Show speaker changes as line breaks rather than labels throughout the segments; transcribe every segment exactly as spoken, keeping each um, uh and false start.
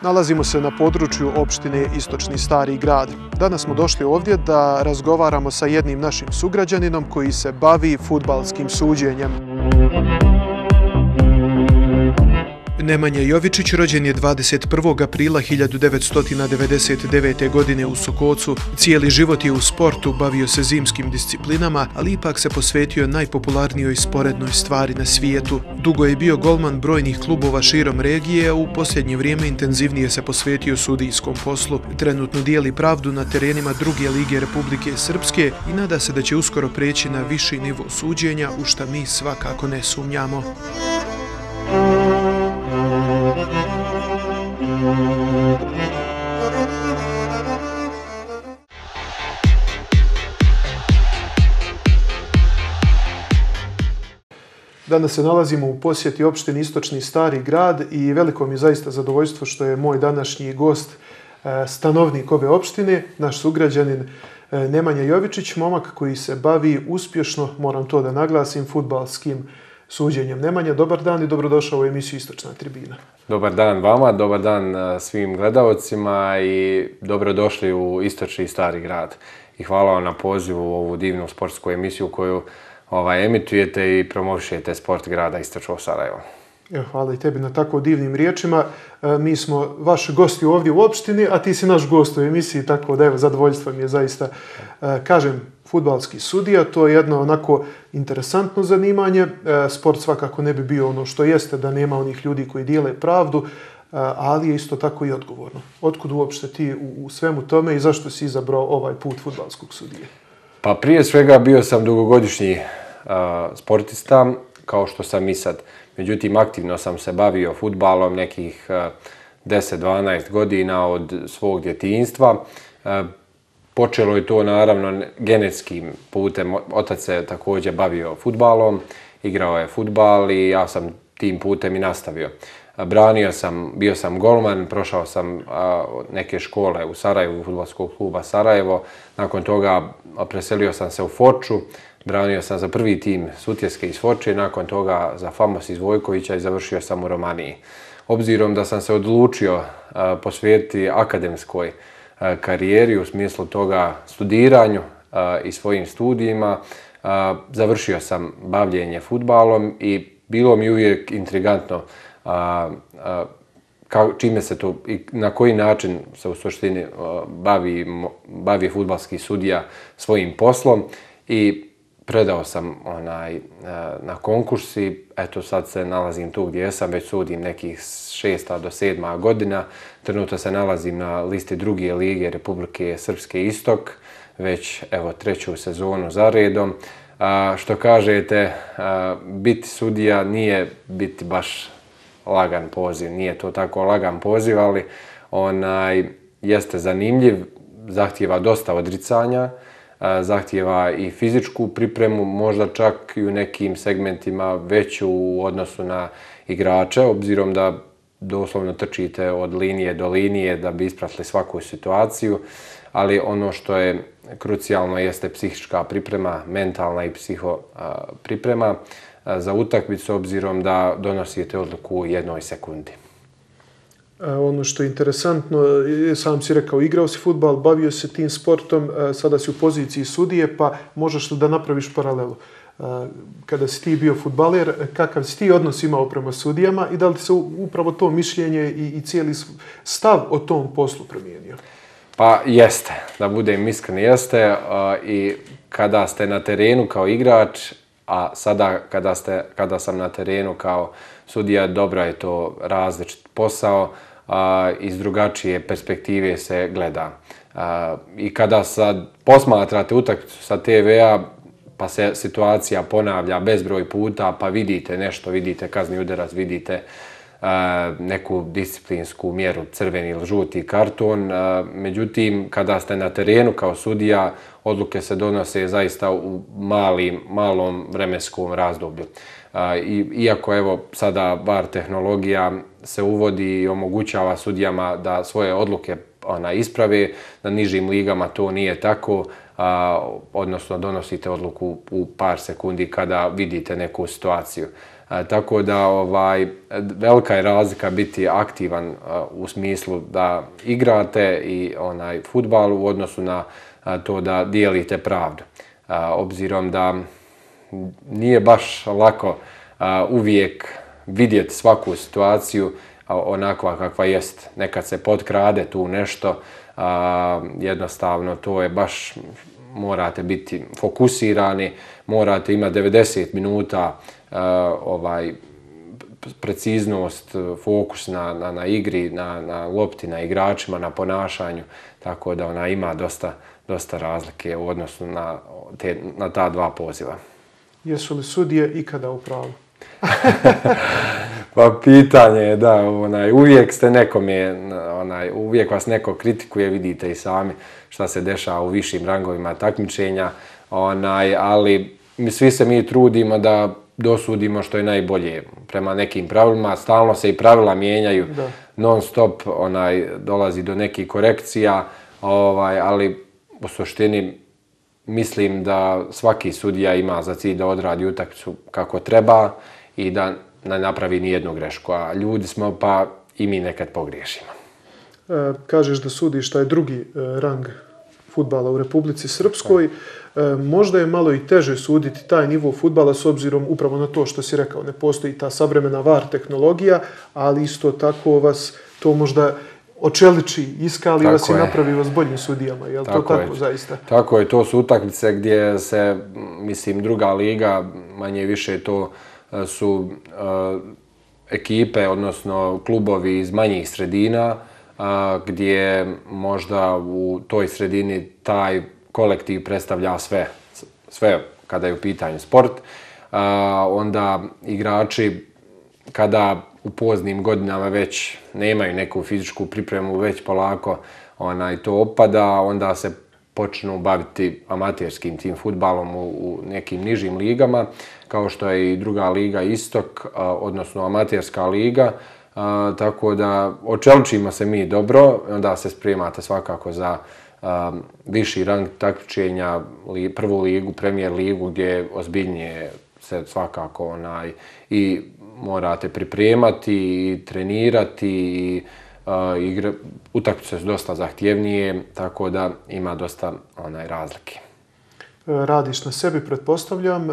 Nalazimo se na području opštine Istočni Stari Grad. Danas smo došli ovdje da razgovaramo sa jednim našim sugrađaninom koji se bavi fudbalskim suđenjem. Nemanja Jovičić rođen je dvadeset prvog aprila hiljadu devetsto devedeset devete. godine u Sokocu. Cijeli život je u sportu, bavio se zimskim disciplinama, ali ipak se posvetio najpopularnijoj sporednoj stvari na svijetu. Dugo je bio golman brojnih klubova širom regije, a u posljednje vrijeme intenzivnije se posvetio sudijskom poslu. Trenutno dijeli pravdu na terenima druge lige Republike Srpske i nada se da će uskoro preći na viši nivo suđenja, u šta mi svakako ne sumnjamo. Danas se nalazimo u posjeti opštini Istočni Stari Grad i veliko mi je zaista zadovoljstvo što je moj današnji gost stanovnik ove opštine, naš sugrađanin Nemanja Jovičić, momak koji se bavi uspješno, moram to da naglasim, fudbalskim suđenjem. Nemanja, dobar dan i dobrodošao u emisiju Istočna tribina.
Dobar dan vama, dobar dan svim gledalcima i dobrodošli u Istočni Stari Grad. I hvala vam na pozivu u ovu divnu sportsku emisiju koju ovaj, emitujete i promovišete sport grada Istočnog Sarajeva.
Evo, hvala i tebi na tako divnim riječima. E, mi smo vaši gosti ovdje u opštini, a ti si naš gost u emisiji, tako da evo, zadovoljstvo mi je zaista. E, kažem, fudbalski sudija, to je jedno onako interesantno zanimanje. E, sport svakako ne bi bio ono što jeste da nema onih ljudi koji dijele pravdu, e, ali je isto tako i odgovorno. Otkud uopšte ti u, u svemu tome i zašto si izabrao ovaj put fudbalskog sudije?
Pa prije svega bio sam dugogodišnji uh, sportista, kao što sam i sad. Međutim, aktivno sam se bavio fudbalom nekih uh, deset do dvanaest godina od svog djetinjstva. Uh, počelo je to naravno genetskim putem. Otac se također bavio fudbalom, igrao je fudbal i ja sam tim putem i nastavio. Branio sam, bio sam golman, prošao sam a, neke škole u Sarajevu, fudbalskog kluba Sarajevo. Nakon toga preselio sam se u Foču, branio sam za prvi tim Sutjeske iz Foče, nakon toga za Famos iz Vojkovića i završio sam u Romaniji. Obzirom da sam se odlučio a, posvetiti akademskoj a, karijeri u smislu toga studiranju a, i svojim studijima, a, završio sam bavljenje fudbalom i bilo mi uvijek intrigantno A, a, kao, čime se to i na koji način se u suštini a, bavi, bavi fudbalski sudija svojim poslom i predao sam onaj, a, na konkurs i eto sad se nalazim tu gdje sam, već sudim nekih šesta do sedma godina. Trenutno se nalazim na listi druge lige Republike Srpske Istok, već evo treću sezonu za redom. A, što kažete, a, biti sudija nije biti baš lagan poziv, nije to tako lagan poziv, ali onaj, jeste zanimljiv, zahtijeva dosta odricanja, zahtijeva i fizičku pripremu, možda čak i u nekim segmentima veću u odnosu na igrače, obzirom da doslovno trčite od linije do linije da bi ispratili svaku situaciju, ali ono što je krucijalno jeste psihička priprema, mentalna i psiho priprema za utakmicu, obzirom da donosite odluku u jednoj sekundi.
Ono što je interesantno, sam si rekao, igrao si fudbal, bavio se tim sportom, sada si u poziciji sudije, pa možeš li da napraviš paralelu? Kada si ti bio fudbaler, kakav si ti odnos imao prema sudijama i da li se upravo to mišljenje i, i cijeli stav o tom poslu promijenio?
Pa jeste, da budem iskren, jeste. I kada ste na terenu kao igrač, a sada kada, ste, kada sam na terenu kao sudija, dobro je to različit posao, a, iz drugačije perspektive se gleda. A, I kada sad posmatrate utakmicu sa te ve-a, pa se situacija ponavlja bezbroj puta, pa vidite nešto, vidite kazni udarac, vidite a, neku disciplinsku mjeru, crveni ili žuti karton. A, međutim, kada ste na terenu kao sudija, odluke se donose zaista u malim, malom vremenskom razdoblju. I, iako evo sada V A R tehnologija se uvodi i omogućava sudijama da svoje odluke ona, isprave, na nižim ligama to nije tako. a, odnosno donosite odluku u par sekundi kada vidite neku situaciju. A, tako da ovaj, velika je razlika biti aktivan a, u smislu da igrate i onaj fudbal u odnosu na a, to da dijelite pravdu. A, obzirom da nije baš lako a, uvijek vidjeti svaku situaciju onakva kakva jest. Nekad se potkrade tu nešto, a, jednostavno to je baš, morate biti fokusirani, morate imati devedeset minuta a, ovaj, preciznost, fokus na, na, na igri, na, na lopti, na igračima, na ponašanju, tako da ona ima dosta, dosta razlike u odnosu na, te, na ta dva poziva.
Jesu li sudije ikada u pravu?
Pa pitanje je da, onaj, uvijek ste nekome, onaj, uvijek vas neko kritikuje, vidite i sami šta se dešava u višim rangovima takmičenja, onaj, ali mi, svi se mi trudimo da dosudimo što je najbolje prema nekim pravilima, stalno se i pravila mijenjaju, da. Non stop onaj, dolazi do nekih korekcija, ovaj, ali u suštini mislim da svaki sudija ima za cilj da odradi utakmicu kako treba i da ne napravi ni jednu grešku, a ljudi smo pa i mi nekad pogriješimo.
E, kažeš da sudiš taj drugi e, rang fudbala u Republici Srpskoj. E, možda je malo i teže suditi taj nivo fudbala s obzirom upravo na to što si rekao, ne postoji ta savremena V A R tehnologija, ali isto tako vas to možda očeliči, iskali tako vas je. I napravi vas boljim sudijama. Je li tako to tako je. Zaista?
Tako je, to su utakmice gdje se, mislim, druga liga, manje više to su uh, ekipe, odnosno klubovi iz manjih sredina, uh, gdje možda u toj sredini taj kolektiv predstavlja sve, sve kada je u pitanju sport. Uh, onda igrači kada u poznim godinama već nemaju neku fizičku pripremu, već polako onaj, to opada, onda se počnu baviti amaterskim tim fudbalom u, u nekim nižim ligama, kao što je i druga liga Istok, a, odnosno amaterska liga, a, tako da očeličimo se mi dobro, onda se spremate svakako za a, viši rang takmičenja, li, prvu ligu, Premier ligu, gdje ozbiljnije se svakako onaj, i morate pripremati i trenirati i uh, igre, utakmice su dosta zahtjevnije, tako da ima dosta onaj, razlike.
Radiš na sebi, pretpostavljam.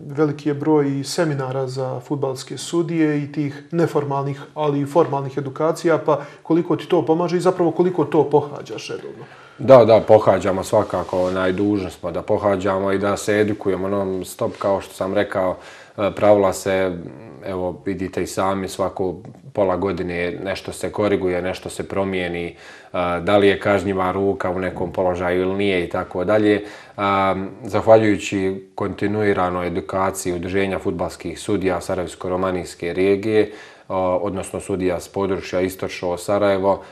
Veliki je broj seminara za fudbalske sudije i tih neformalnih, ali i formalnih edukacija, pa koliko ti to pomaže i zapravo koliko to pohađaš redovno?
Da, da, pohađamo svakako, najdužni smo da pohađamo i da se edukujemo non stop, kao što sam rekao, pravila se, evo vidite i sami, svako pola godine nešto se koriguje, nešto se promijeni, da li je kažnjiva ruka u nekom položaju ili nije i tako dalje. Zahvaljujući kontinuiranoj edukaciji Udruženja fudbalskih sudija Sarajevsko-romanijske regije, odnosno sudija s područja Istočno Sarajevo,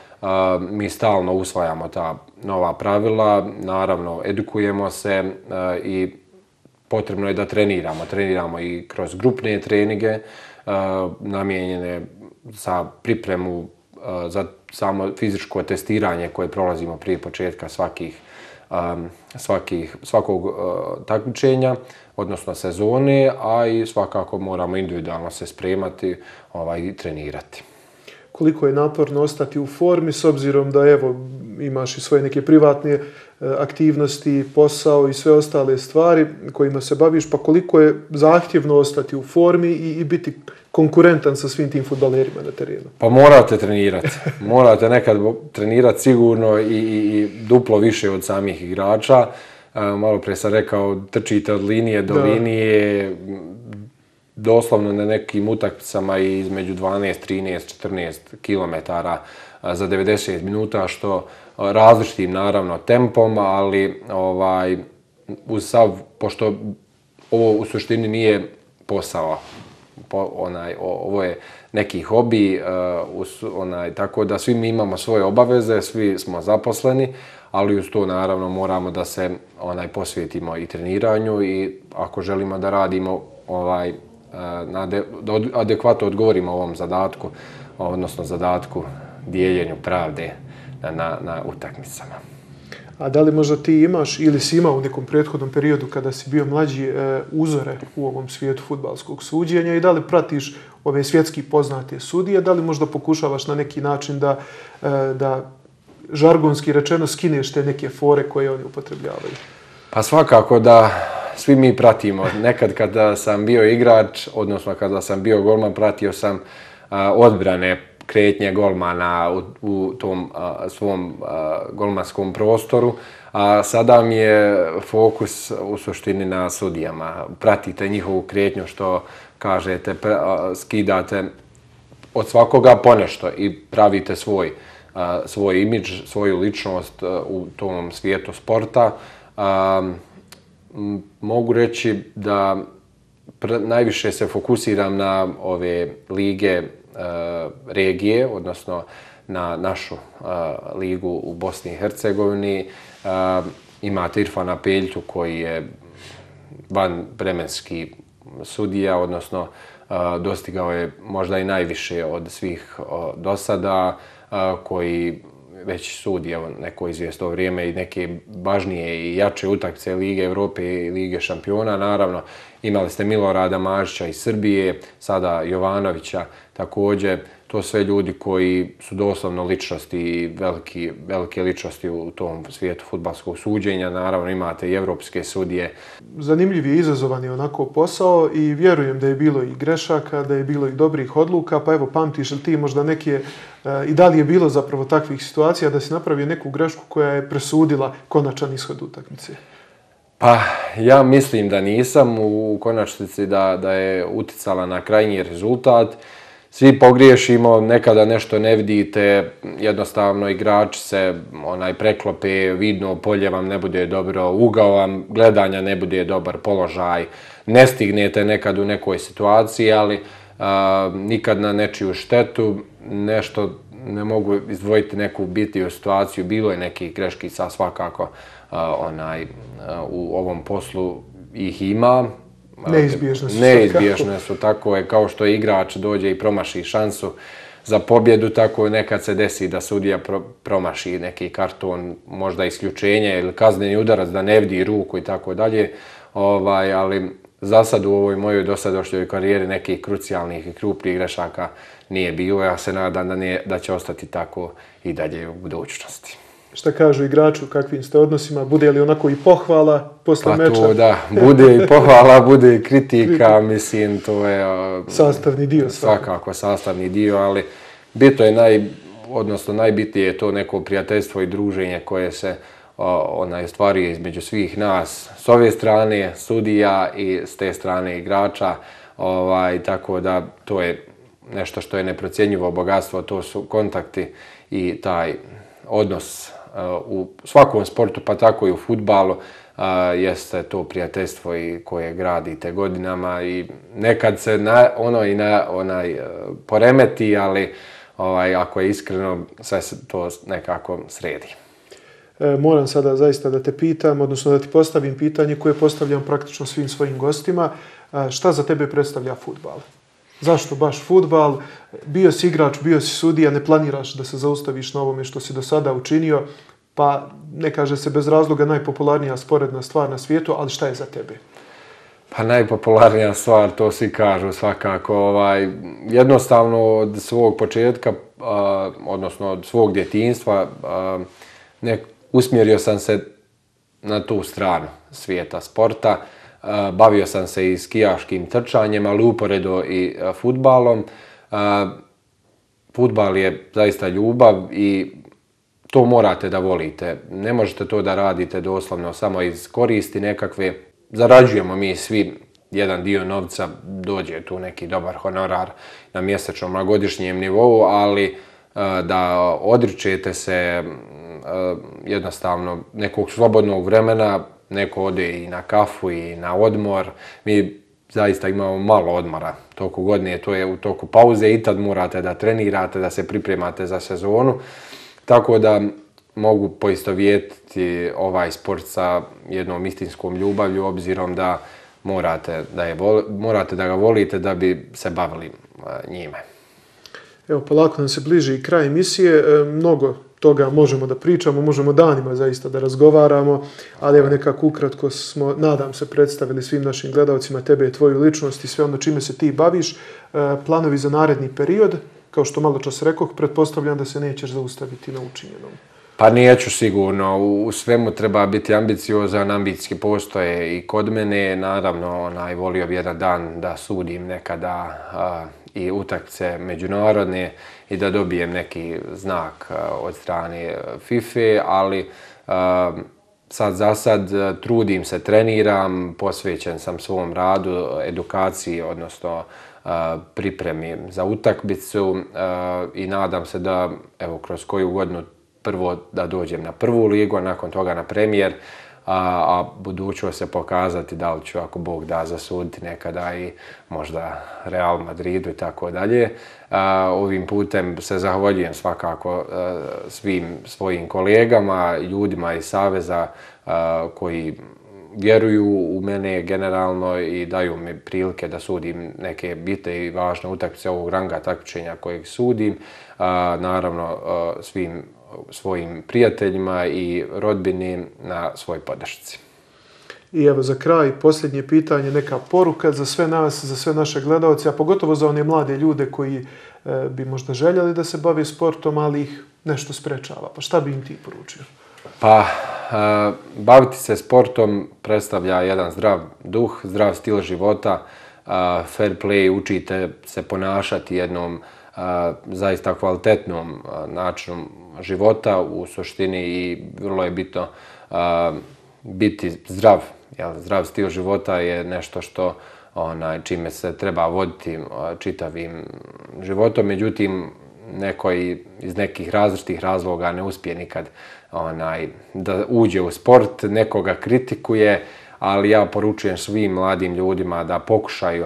mi stalno usvajamo ta nova pravila, naravno edukujemo se i potrebno je da treniramo. Treniramo i kroz grupne treninge namijenjene za pripremu za samo fizičko testiranje koje prolazimo prije početka svakih, svakih, svakog takmičenja, odnosno sezone, a i svakako moramo individualno se spremati ovaj, i trenirati.
Koliko je naporno ostati u formi s obzirom da evo imaš i svoje neke privatne aktivnosti, posao i sve ostale stvari kojima se baviš, pa koliko je zahtjevno ostati u formi i, i biti konkurentan sa svim tim fudbalerima na terenu?
Pa morate trenirati. Morate nekad trenirati sigurno i, i, i duplo više od samih igrača. Malo prije sam rekao, trčite od linije do da. linije, doslovno na nekim utakmicama između dvanaest, trinaest, četrnaest kilometara za devedeset minuta, što različitim naravno tempom, ali ovaj, uz sav, pošto ovo u suštini nije posao, po, onaj, ovo je neki hobi, uh, onaj, tako da svi mi imamo svoje obaveze, svi smo zaposleni, ali uz to naravno moramo da se onaj, posvetimo i treniranju i ako želimo da radimo ovaj, na de, da adekvatno odgovorimo ovom zadatku, odnosno zadatku dijeljenju pravde na, na, na utakmicama.
A da li možda ti imaš ili si imao u nekom prethodnom periodu kada si bio mlađi uzore u ovom svijetu fudbalskog suđenja i da li pratiš ove svjetski poznate sudije, da li možda pokušavaš na neki način da, da žargonski rečeno skineš te neke fore koje oni upotrebljavaju?
Pa svakako da svi mi pratimo. Nekad kada sam bio igrač, odnosno kada sam bio golman, pratio sam a, odbrane kretnje golmana u, u tom a, svom a, golmanskom prostoru, a sada mi je fokus u suštini na sudijama. Pratite njihovu kretnju, što kažete, pra, a, skidate od svakoga ponešto i pravite svoj, a, svoj imidž, svoju ličnost a, u tom svijetu sporta. A, mogu reći da najviše se fokusiram na ove lige e, regije, odnosno na našu e, ligu u Bosni i Hercegovini. E, imate Irfana Peljtu koji je vanvremenski sudija, odnosno e, dostigao je možda i najviše od svih do sada, e, koji već sudi evo, neko izvjesno vrijeme i neke važnije i jače utakmice Lige Evrope i Lige šampiona. Naravno, imali ste Milorada Mažića iz Srbije, sada Jovanovića također. To sve ljudi koji su doslovno ličnosti i veliki, velike ličnosti u tom svijetu fudbalskog suđenja. Naravno, imate i evropske sudije.
Zanimljiv je, izazovan je onako posao i vjerujem da je bilo i grešaka, da je bilo i dobrih odluka. Pa evo, pamtiš li ti možda neke, i da li je bilo zapravo takvih situacija da si napravio neku grešku koja je presudila konačan ishod utakmice?
Pa, ja mislim da nisam u konačnici da, da je uticala na krajnji rezultat. Svi pogriješimo, nekada nešto ne vidite, jednostavno igrači se onaj preklope, vidno polje vam ne bude dobro, ugao vam gledanja ne bude dobar, položaj, ne stignete nekad u nekoj situaciji, ali a, nikad na nečiju štetu, nešto ne mogu izdvojiti neku bitiju situaciju, bilo je nekih greškica svakako a, onaj, a, u ovom poslu ih ima.
Neizbježne su.
Neizbježne su, tako je, kao što igrač dođe i promaši šansu za pobjedu, tako nekad se desi da sudija pro, promaši neki karton, možda isključenje ili kazneni udarac, da ne vidi ruku i tako dalje. Ovaj, ali za sad u ovoj mojoj dosadašnjoj karijeri nekih krucijalnih i krupnih grešaka nije bilo. Ja se nadam da, nije, da će ostati tako i dalje u budućnosti.
Šta kažu igraču, kakvim ste odnosima, bude li onako i pohvala posle
pa
meča?
Pa to da, bude i pohvala, bude i kritika, mislim, to je...
Sastavni dio.
Svakako, svakako sastavni dio, ali bitno je, naj, odnosno najbitnije je to neko prijateljstvo i druženje koje se onaj, stvaruje između svih nas, s ove strane sudija i s te strane igrača, ovaj, tako da to je nešto što je neprocjenjivo bogatstvo, to su kontakti i taj odnos u svakom sportu, pa tako i u fudbalu, jeste to prijateljstvo i koje gradite godinama i nekad se na, ono i na, onaj poremeti, ali ovaj, ako je iskreno, sve se to nekako sredi.
E, moram sada zaista da te pitam, odnosno da ti postavim pitanje koje postavljam praktično svim svojim gostima. E, šta za tebe predstavlja fudbal? Zašto baš fudbal? Bio si igrač, bio si sudija, ne planiraš da se zaustaviš na ovome što si do sada učinio, pa ne kaže se bez razloga najpopularnija sporedna stvar na svijetu, ali šta je za tebe?
Pa najpopularnija stvar, to svi kažu svakako. Ovaj, jednostavno od svog početka, a, odnosno od svog djetinjstva, a, ne, usmjerio sam se na tu stranu svijeta sporta. Bavio sam se i skijaškim trčanjem, ali uporedo i fudbalom. Fudbal je zaista ljubav i to morate da volite. Ne možete to da radite doslovno samo iz koristi nekakve. Zarađujemo mi svi jedan dio novca, dođe tu neki dobar honorar na mjesečnom, na godišnjem nivou, ali da odričete se jednostavno nekog slobodnog vremena, neko ode i na kafu i na odmor. Mi zaista imamo malo odmora toku godine, to je u toku pauze i tad morate da trenirate, da se pripremate za sezonu. Tako da mogu poistovjetiti ovaj sport sa jednom istinskom ljubavlju, obzirom da morate da, je, morate da ga volite da bi se bavili njime.
Evo, polako nam se bliži i kraj emisije. Mnogo toga možemo da pričamo, možemo danima zaista da razgovaramo, ali evo nekako ukratko smo, nadam se, predstavili svim našim gledalcima tebe, tvoju ličnost i sve ono čime se ti baviš. Planovi za naredni period, kao što malo čas rekoh, pretpostavljam da se nećeš zaustaviti na učinjenom.
Pa neću sigurno, u svemu treba biti ambiciozan, ambicije postoje i kod mene, naravno onaj, volio bi jedan dan da sudim nekada a, i utakmice međunarodne i da dobijem neki znak a, od strane FIFA, ali a, sad za sad trudim se, treniram, posvećen sam svom radu, edukaciji, odnosno a, pripremi za utakmicu a, i nadam se da evo kroz koju godinu prvo da dođem na prvu ligu, a nakon toga na premijer, a, a budućnost se pokazati da li ću, ako Bog da, zasuditi nekada i možda Real Madridu i tako dalje. Ovim putem se zahvaljujem svakako a, svim svojim kolegama, ljudima iz Saveza a, koji vjeruju u mene generalno i daju mi prilike da sudim neke bitne i važne utakmice ovog ranga takmičenja kojeg sudim. A, naravno, a, svim svojim prijateljima i rodbini na svoj podršci.
I evo za kraj, posljednje pitanje, neka poruka za sve nas, za sve naše gledalce, a pogotovo za one mlade ljude koji e, bi možda željeli da se bave sportom, ali ih nešto sprečava. Pa šta bi im ti poručio?
Pa, e, baviti se sportom predstavlja jedan zdrav duh, zdrav stil života, e, fair play, učite se ponašati jednom a, zaista kvalitetnom a, načinu života u suštini i vrlo je bitno a, biti zdrav. Jel, zdrav stil života je nešto što onaj, čime se treba voditi a, čitavim životom, međutim neko iz nekih različitih razloga ne uspije nikad onaj, da uđe u sport, nekoga kritikuje, ali ja poručujem svim mladim ljudima da pokušaju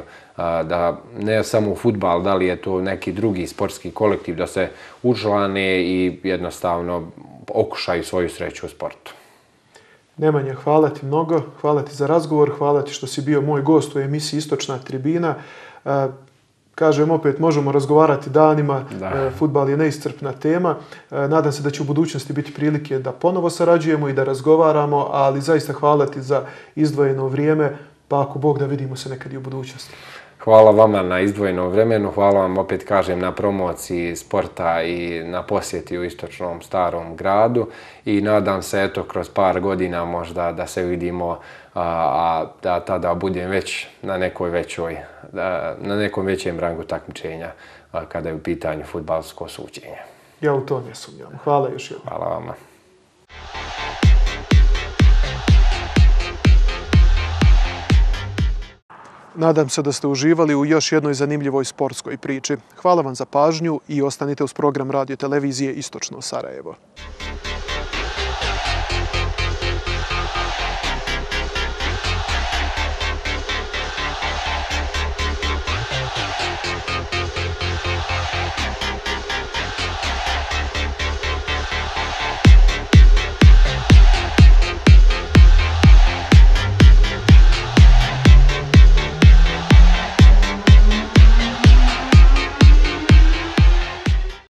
da ne samo u fudbal, da li je to neki drugi sportski kolektiv, da se učlane i jednostavno okušaju svoju sreću u sportu.
Nemanja, hvala ti mnogo, hvala ti za razgovor, hvala ti što si bio moj gost u emisiji Istočna tribina. Kažem opet, možemo razgovarati danima, da. Fudbal je neiscrpna tema. Nadam se da će u budućnosti biti prilike da ponovo sarađujemo i da razgovaramo, ali zaista hvala ti za izdvojeno vrijeme, pa ako Bog da vidimo se nekad i u budućnosti.
Hvala vama na izdvojenom vremenu, hvala vam opet kažem na promociji sporta i na posjeti u istočnom starom gradu i nadam se eto kroz par godina možda da se vidimo, a, a da tada budem već na nekoj većoj, da, na nekom većem rangu takmičenja a, kada je u pitanju fudbalsko suđenje.
Ja u to ne sumnjam. Hvala još jednom.
Hvala vama.
Nadam se da ste uživali u još jednoj zanimljivoj sportskoj priči. Hvala vam za pažnju i ostanite uz program radio televizije Istočno Sarajevo.